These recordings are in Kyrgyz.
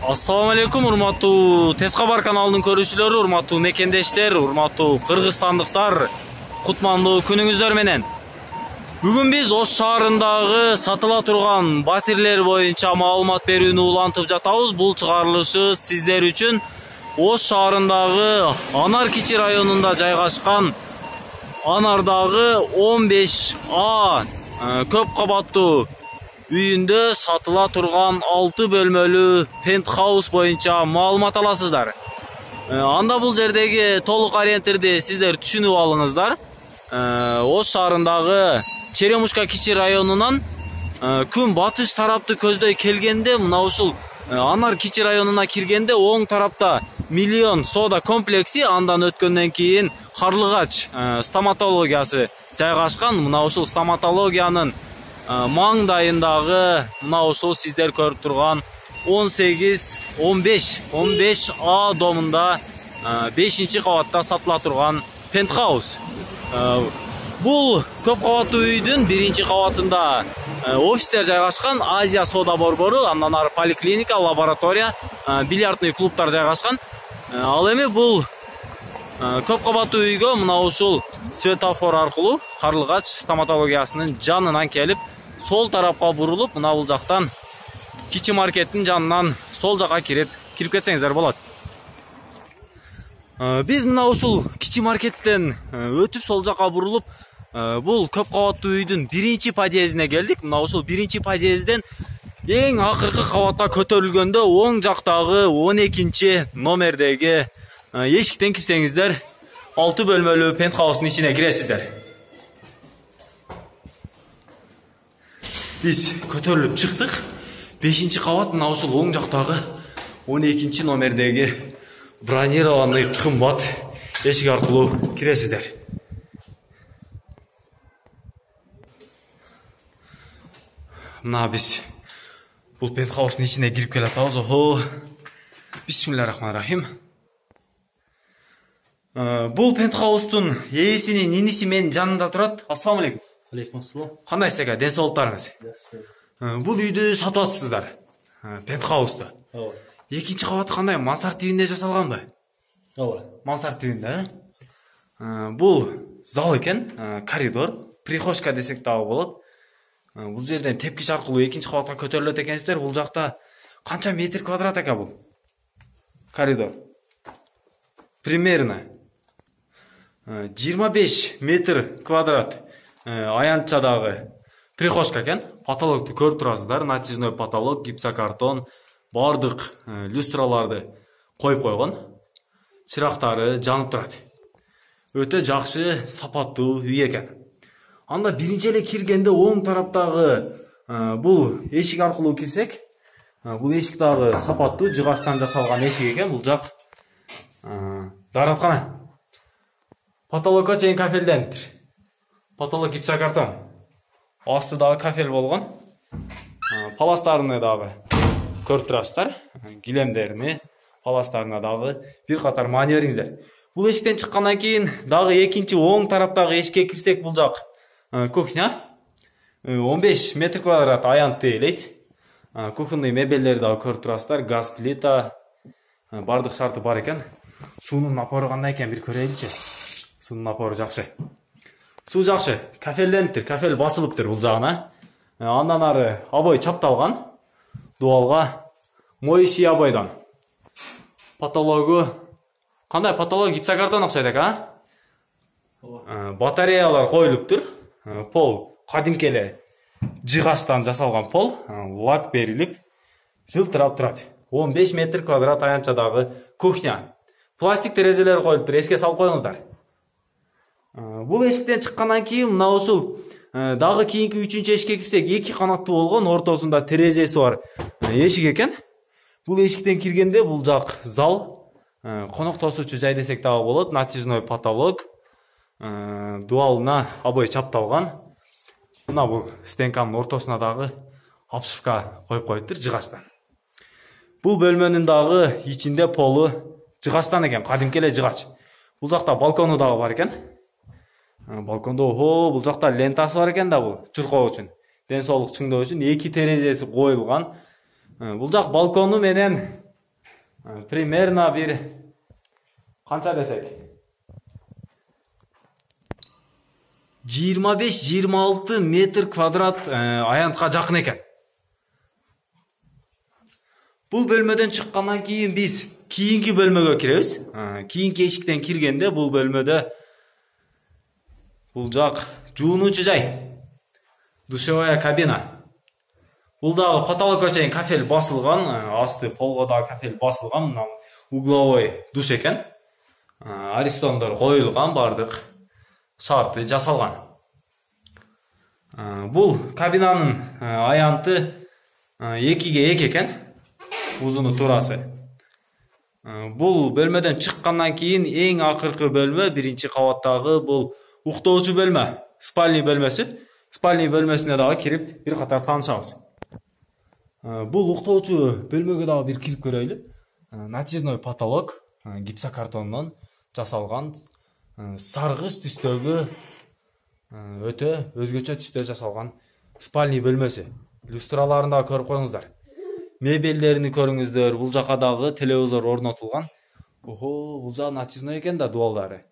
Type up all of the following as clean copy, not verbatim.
Assalamu alaikum урматтуу Тез кабар каналынын көрүүчүлөрү, урматтуу мекендештер, урматтуу кыргызстандыктар, кутмандуу күнүңүздөр менен. Бүгүн биз Ош шаарындагы сатыла турган батирлер боюнча маалымат берүүнү улантып жатабыз. Бул чыгарылышы сиздер үчүн Ош шаарындагы Анар Кичи районунда жайгашкан Анардагы 15А көп кабаттуу үйүндө сатыла турган 6 бөлмөлүү пентхаус боюнча маалымат аласыздар. Анда бул жердеги толук ориентирди сиздер түшүнүп алыңыздар. Ош шаарындагы Черемушка Кичи районунан күн батыш тарапты көздөй келгенде, мына ушул Анар Кичи районуна киргенде оң тарапта Миллион соода комплекси, андан өткөндөн кийин Карлыгач стоматологиясы жайгашкан. Мына ушул стоматологиянын маңдайындагы мына ушул сиздер көрүп турган 18-15А домунда 5-кабатта сатыла турган пентхаус. Бул көп кабаттуу үйдүн 1-кабатында офистер жайгашкан, Азия соода борбору, андан ары поликлиника, лаборатория, бильярдный клубтар жайгашкан. Ал эми бул көп кабаттуу үйгө мына ушул светофор аркылуу Карлыгач стоматологиясынын жанынан келип, сол тарапка бурулуп, мына бул жактан Кичи маркеттин жанынан сол жака кирип кетсеңиздер болот. Биз мына ушул Кичи маркеттен өтүп сол жака бурулуп, бул көп кабаттуу үйдүн 1-подъездине келдик. Мына ушул 1-подъезден эң акыркы кабатта көтөрүлгөндө оң жактагы 12-номердеги эшиктен кирсеңиздер 6 бөлмөлүү пентхаустун ичине киресиздер. Биз көтөрүлүп чыктык. 5-кабат мына ушул оң жактагы 12-номердеги бронированный кымбат эшик аркылуу киресиздер. Мына биз бул пентхаустун ичине кирип келатабыз. Охо. Бисмиллахиррахманиррахим. Бул пентхаустун ээсинин иниси менин жанымда турат. Ассаламу алейкум. Алейкум ассалам. Кандайсыз ака, ден соолуктарыңыз? Бул үйдү сатып атыпсыздар. Пентхаусту. Ооба. 2-кабаты кандай, мансард тибинде жасалганбы? Ооба. Мансард тибинде, бул зал экен, коридор, прихожка десек дагы болот. Бул жерден тепкич аркылуу 2-кабатка көтөрүлөт экенсиздер. Бул жакта канча метр квадрат ака бул коридор? Примерно 25 метр квадрат. Аянтчадагы прихожка экен. Потолокту көрүп турасыздар. Натяжной потолок, гипсокартон, бардык люстраларды коюп койгон. Чырактары жанып турат. Өтө жакшы, сапаттуу үй экен. Анда биринчи эле киргенде оң тараптагы бул эшик аркылуу кирсек, бул эшик дагы сапаттуу, жыгачтан жасалган эшик экен. Бул жак даараткана. Потолокко чейин кафелдениптир. Потолок гипсокартон. Асты дагы кафел болгон. Паластарыны дагы көрүп турасыздар. Килемдерини, паластарына дагы бир катар маани бериңиздер. Бул эшиктен чыккандан кийин дагы экинчи оң тараптагы эшикке кирсек, бул жак кухня. 15 метр квадрат аянт тейлейт. Кухонный мебелдерди дагы көрүп турасыздар. Газ плита, бардык шарты бар экен. Суунун напору кандай экен, бир көрөйлүчү. Суунун напору жакшы. Суу жакшы, кафелдениптир, кафел басылыптыр бул жагына. Андан ары обой чапталган. Дуалга моющий обойдон. Потологу кандай потолок, гипсокартон окшойт экен, батареялар коюлуптур. Пол кадимки эле жыгачтан жасалган пол, лак берилип, жылтырап турат. 15 метр квадрат аянтчадагы кухня. Пластик терезелер коюлуптур, эске салып коюңуздар. Бул эшиктен чыккандан кийин мына ушул дагы кийинки 3-эшикке кирсек, 2 канаттуу болгон, ортосунда терезеси бар эшик экен. Бул эшиктен киргенде бул жак зал, конок тосуучу жай десек дагы болот. Натяжной потолок, дуалына обой чапталган. Мына бул стенканын ортосуна дагы обшивка коюп коюптур жыгачтан. Бул бөлмөнүн дагы ичинде полу жыгачтан экен, кадимки эле жыгач. Бул жакта балкону дагы бар экен. Балкондо бул жакта лентасы бар экен да, бул чуркоо үчүн, ден соолук чыңдоо үчүн 2 терезеси коюлган. Бул жак балкону менен Примерно бир канча десек 25-26 метр квадрат аянтка жакын экен. Бул бөлмөдөн чыккандан кийин биз кийинки бөлмөгө киребиз. Кийинки эшиктен киргенде бул бөлмөдө бул жак жуунуучу жай, душевая кабина. Бул дагы потолокко чейин кафель басылган, асты полго дагы кафель басылган, мына угловой душ экен. Аристондор коюлган, бардык шарты жасалган. Бул кабинанын аянты 2/2 экен, узуну туурасы. Бул бөлмөдөн чыккандан кийин эң акыркы бөлмө, биринчи кабаттагы бул уктоочу бөлмө, спальный бөлмөсү. Спальный бөлмөсүнө дагы кирип бир катар таанышабыз. Бул уктоочу бөлмөгө дагы бир кирип көрөйлү. Натяжной потолок, гипсокартондон жасалган, саргыч түстөгү, өтө өзгөчө түстө жасалган спальный бөлмөсү. Люстраларын дагы көрүп коюңуздар. Мебелдерини көрүңүздөр. Бул жака дагы телевизор орнотулган. Бул жак натяжной экен да, дуалдары.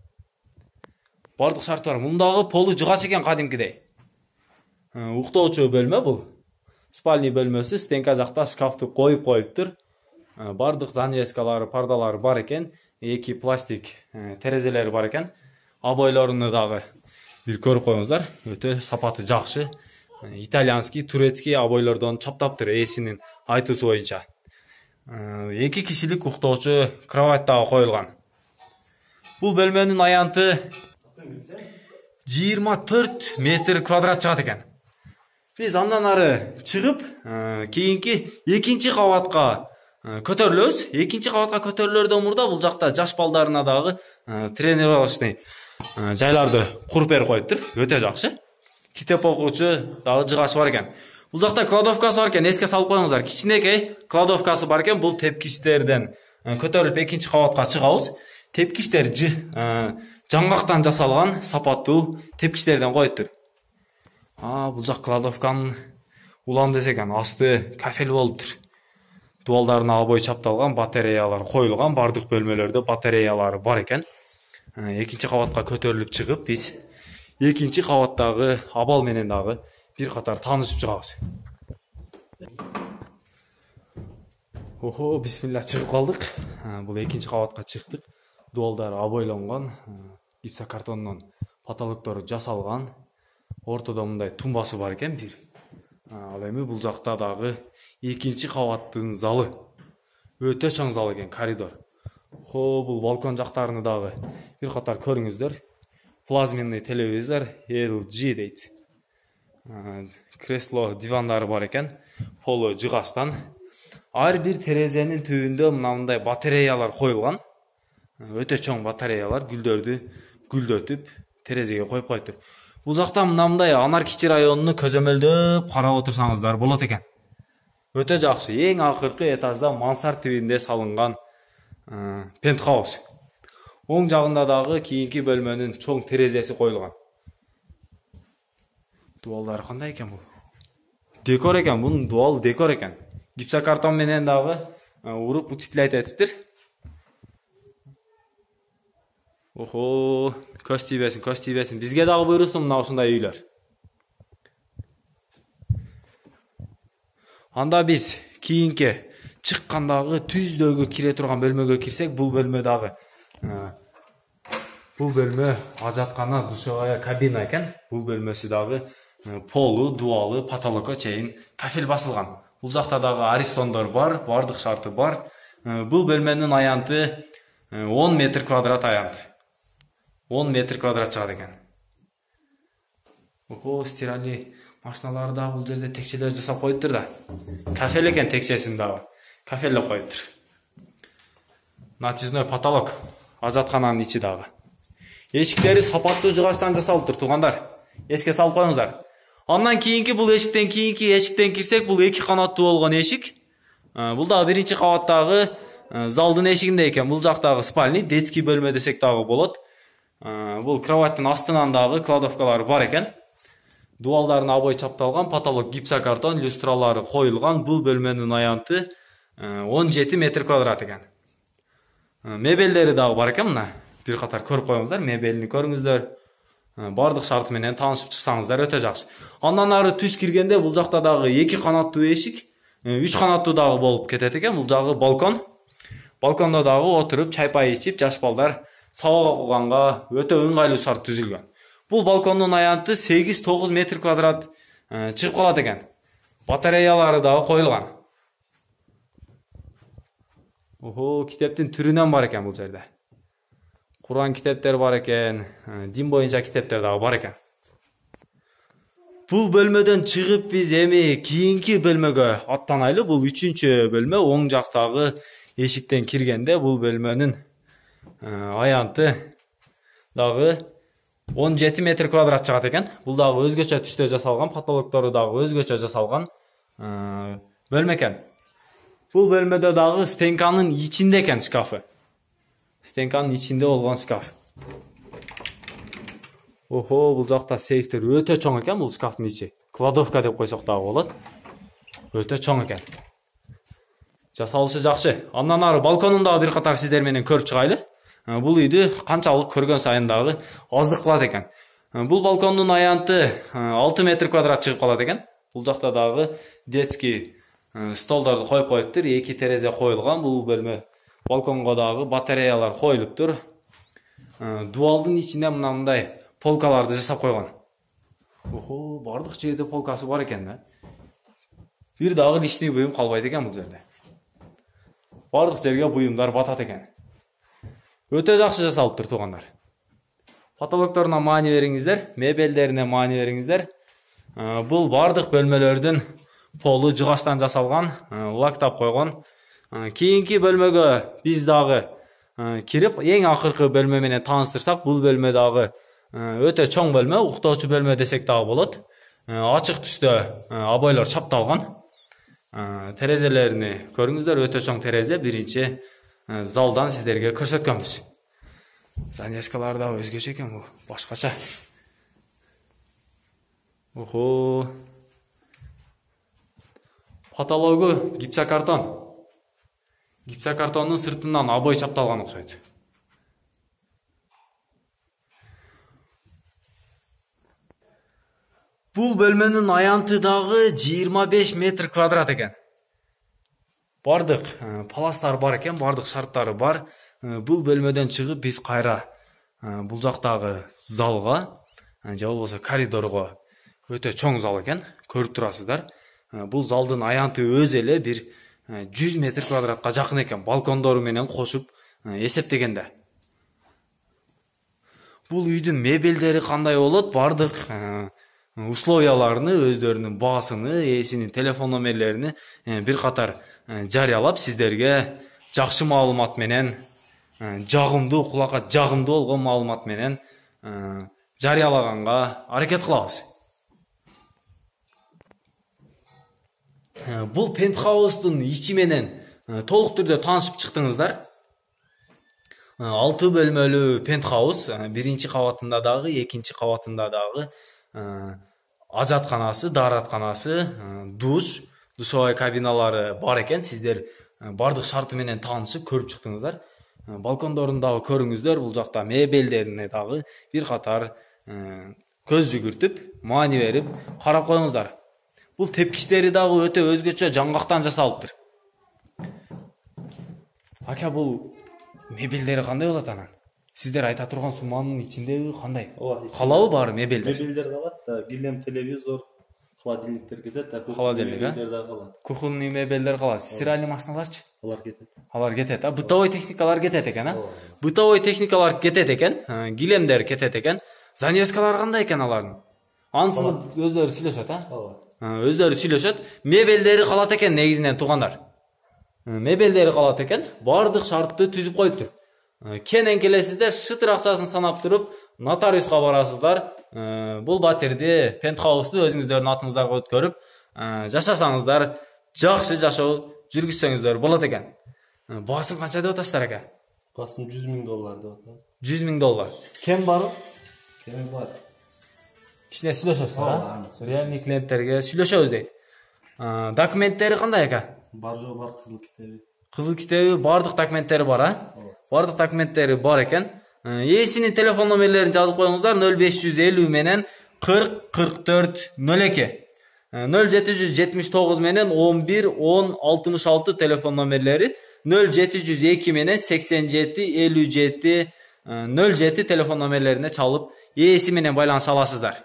Бардык шарты бар. Мундагы полу жыгач экен кадимкидей. Уктоочу бөлмө бул. Спальный бөлмөсү, стенка жакта шкафты коюп коюптур. Бардык занавескалары, пардалары бар экен. 2 пластик терезелери бар экен. Обойлоруну дагы бир көрүп коюңуздар. Өтө сапаты жакшы. Итальянский, турецкий обойлордон чаптаптыр ээсинин айтуусу боюнча. 2 кишилик уктоочу кровать дагы коюлган. Бул бөлмөнүн аянты 24 метр квадрат чыгат экен. Биз андан ары чыгып, кийинки 2-чи кабатка көтөрүлөбүз. 2-чи кабатка көтөрүлөрдөн мурда бул жакта жаш балдарына дагы тренировочный жайларды куруп берип коюптур. Өтө жакшы. Китеп окуучу дагы жыгач бар экен. Бул жакта кладовкасы бар экен, эске салып коюңуздар. Кичинекей кладовкасы бар экен. Бул тепкичтерден көтөрүлүп 2-чи кабатка чыгабыз. Тепкичтер жаңгактан жасалган, сапаттуу тепкичтерден коюптур. Бул жак кладовканын уланды экен, асты кафель болуптур. Дуалдарына обой чапталган, батареялар коюлган, бардык бөлмөлөрдө батареялары бар экен. 2-чи кабатка көтөрүлүп чыгып, биз 2-чи кабаттагы абал менен дагы бир катар таанышып чыгабыз. Бисмилла, чыгып калдык. Бул 2-чи кабатка чыктык. Дуалдары обойлонгон, гипсокартондон потолоктору жасалган. Ортодо мындай тумбасы бар экен бир. Ал эми бул жакта дагы 2-чи кабаттын залы. Өтө чоң зал экен, коридор. Бул балкон жактарыны дагы бир катар көрүңүздөр. Плазменный телевизор, LG дейт. Кресло, дивандары бар экен. Полу жыгачтан. Ар бир терезенин түбүндө мындай батареялар коюлган. Өтө чоң батареялар гүлдөрдү гүлдөтүп терезеге коюп коюптур. Бул жакта мындай Анаркичи районуну көзөмөлдөп карап отурсаңыздар болот экен. Өтө жакшы. Эң акыркы этажда мансард тибинде салынган пентхаус. Оң жагында дагы кийинки бөлмөнүн чоң терезеси коюлган. Дуалдары кандай экен бул? Декор экен, бунун дуал декор экен. Гипсокартон менен дагы уруп утеплять этиптир. Көз тийбесин. Бизге дагы буйрусун мына ушундай үйлөр. Анда биз кийинки чыккандагы түздөгү кире турган бөлмөгө кирсек, бул бөлмө дагы бул бөлмө ажаткана душевая кабина экен. Бул бөлмөсү дагы полу, дуалы, потолокко чейин кафель басылган. Бул жакта дагы аристондор бар, бардык шарты бар. Бул бөлмөнүн аянты 10 метр квадрат аянт. 10 метр квадрат чыгат экен. Стиральный машиналары дагы бул жерде текчелер жасап коюптур да. Кафель экен, текчесин дагы кафелдеп коюптур. Натяжной потолок, ажаткананын ичи дагы. Эшиктери сапаттуу жыгачтан жасалыптыр, туугандар. Эске салып коюңуздар. Андан кийинки бул эшиктен кирсек, бул 2 канаттуу болгон эшик. Бул дагы 1-чи кабаттагы залдын эшигинде экен. Бул жактагы спальный, детский бөлмө десек дагы болот. Бул кроваттын астынан дагы кладовкалары бар экен. Дуалдарына обой чапталган, потолок гипсокартон, люстралары коюлган. Бул бөлмөнүн аянты 17 метр квадрат экен. Мебелдери дагы бар экен мына. Бир катар көрүп коюңуздар, мебелини көрүңүздөр. Бардык шарты менен таанышып чыксаңыздар өтө жакшы. Андан ары түз киргенде бул жакта дагы 2 канаттуу эшик, 3 канаттуу дагы болуп кетет экен. Бул жагы балкон. Балкондо дагы отуруп чай пай ичип, жаш балдар сабак окуганга өтө ыңгайлуу шарт түзүлгөн. Бул балкондун аянты 8-9 метр квадрат чыгып калат экен. Батареялары дагы коюлган. Китептин түрүнөн бар экен бул жерде. Куран китептер бар экен, дин боюнча китептер дагы бар экен. Бул бөлмөдөн чыгып биз эми кийинки бөлмөгө аттанайлы. Бул 3-чү бөлмө, оң жактагы эшиктен киргенде бул бөлмөнүн аянты дагы 17 метр квадрат чыгат экен. Бул дагы өзгөчө түстө жасалган, потолоктору дагы өзгөчө жасалган бөлмө экен. Бул бөлмөдө дагы стенканын ичинде экен шкафы. Стенканын ичинде болгон шкаф. Бул жакта сейфтер өтө чоң экен бул шкафтын ичи. Кладовка деп койсок дагы болот. Өтө чоң экен. Жасалышы жакшы. Андан ары балконун дагы бир катар сиздер менен көрүп чыгайлы. Бул үйдү канчалык көргөн сайын дагы аздык кылат экен. Бул балкондун аянты 6 метр квадрат чыгып калат экен. Бул жакта дагы детский столдорду коюп коюптур, 2 терезе коюлган. Бул бөлмө балконго дагы батареялар коюлуптур. Дуалдын ичинде мындай полкаларды жасап койгон. Бардык жерде полкасы бар экен да. Бир дагы личный буюм калбайт экен бул жерде. Бардык жерге буюмдар батат экен. Өтө жакшы жасалыптыр туугандар. Потолокторуна маани бериңиздер, мебелдерине маани бериңиздер. Бул бардык бөлмөлөрдүн полу жыгачтан жасалган, лактап койгон. Кийинки бөлмөгө биз дагы кирип, эң акыркы бөлмө менен тааныштырсак, бул бөлмө дагы өтө чоң бөлмө, уктоочу бөлмө десек дагы болот. Ачык түстө обойлор чапталган. Терезелерини көрүңүздөр, өтө чоң терезе. Биринчи залдан сиздерге көрсөткөнбүз. Занескалар да өзгөчө экен, бул башкача. Потологу гипсокартон. Гипсокартондун сыртынан обой чапталган окшойт. Бул бөлмөнүн аянты дагы 25 метр квадрат экен. Бардык паластар бар экен, бардык шарттары бар. Бул бөлмөдөн чыгып биз кайра бул жактагы залга, же болбосо коридорго, өтө чоң зал экен, көрүп турасыздар. Бул залдын аянты өз эле бир 100 метр квадратка жакын экен, балкондору менен кошуп эсептегенде. Бул үйдүн мебелдери кандай болот? Бардык условияларны, өздөрүнүн баасыны, ээсинин телефон номерлерини бир катар жарыялап, сиздерге жакшы маалымат менен, жагымдуу, кулакка жагымдуу болгон маалымат менен жарыялаганга аракет кылабыз. Бул пентхаустун ичи менен толук түрдө таанышып чыктыңыздар. 6 бөлмөлүү пентхаус, биринчи кабатында дагы, экинчи кабатында дагы ажатканасы, дааратканасы, душ, душевой кабиналары бар экен. Сиздер бардык шарты менен таанышып көрүп чыктыңыздар. Балкондорун дагы көрүңүздөр. Бул жакта мебелдерине дагы бир катар көз жүгүртүп, маани берип карап коюңуздар. Бул тепкичтери дагы өтө өзгөчө жаңгактан жасалыптыр. Ака, бул мебелдери кандай болот анан? Сиздер айта турган сумманын ичиндеби кандай? Калабы баары мебелдер? Мебелдер калат да, килем, телевизор, холодильниктер кетет да, мебелдер дагы калат. Кухонный мебелдер калат. Стиральный машиналарчы? Алар кетет. Алар кетет. Бытовой техникалар кетет экен, а? Бытовой техникалар кетет экен, килемдер кетет экен. Занескалар кандай экен алардын? Ансын өздөрү сүйлөшөт, а? Өздөрү сүйлөшөт. Мебелдери калат экен негизинен туугандар. Мебелдери калат экен, бардык шартты түзүп коюптур. Кенен келесиздер, шытыр акчасын санап туруп, нотариуска барасыздар. Бул батирди, пентхаусту өзүңүздөрдүн атыңыздарга өткөрүп, жашасаңыздар, жакшы жашоо жүргүзсөңүздөр болот экен. Баасын канча деп атасыздар ака? Баасын $100,000 деп атат. $100,000. Кем бар? Кем бар? Кичине сүйлөшөсүз, а? Реальный клиенттерге сүйлөшөбүз дейт. Документтери кандай ака? Бар жоо бар, кызыл китеби. кызыл китеби, бардык документтери бар, а? Бардык документтери бар экен. Ээсинин телефон номерлерин жазып коюңуздар. 0550 менен 40 44 02. 0779 менен 11 10 66 телефон номерлери. 0702 менен 87 57 07 телефон номерлерине чалып ээси менен байланыша аласыздар.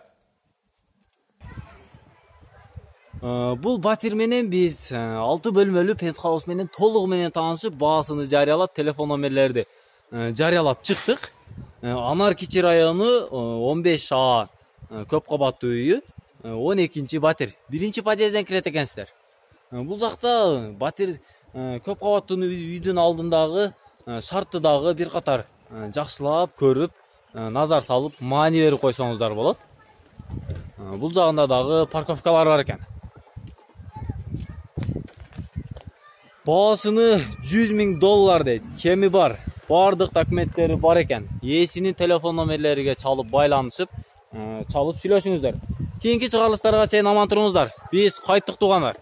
Бул батир менен биз 6 бөлмөлүү пентхаус менен толугу менен таанышып, баасыны жарыялап, телефон номерлерди жарыялап чыктык. Анар-Кичи району 15А көп кабаттуу үйү, 12-чи батир. 1-чи подъезден кирет экенсиздер. Бул жакта батир көп кабаттуу үйдүн алдындагы шартты дагы бир катар жакшылап көрүп, назар салып, маани берип койсоңуздар болот. Бул жагында дагы парковкалар бар экен. Баасыны $100,000 дейт. Кеми бар. Бардык документтери бар экен. Ээсинин телефон номерлериге чалып байланышып, чалып сүйлөшүңүздөр. Кийинки чыгарылыштарга чейин аман туруңуздар. Биз кайттык туугандар.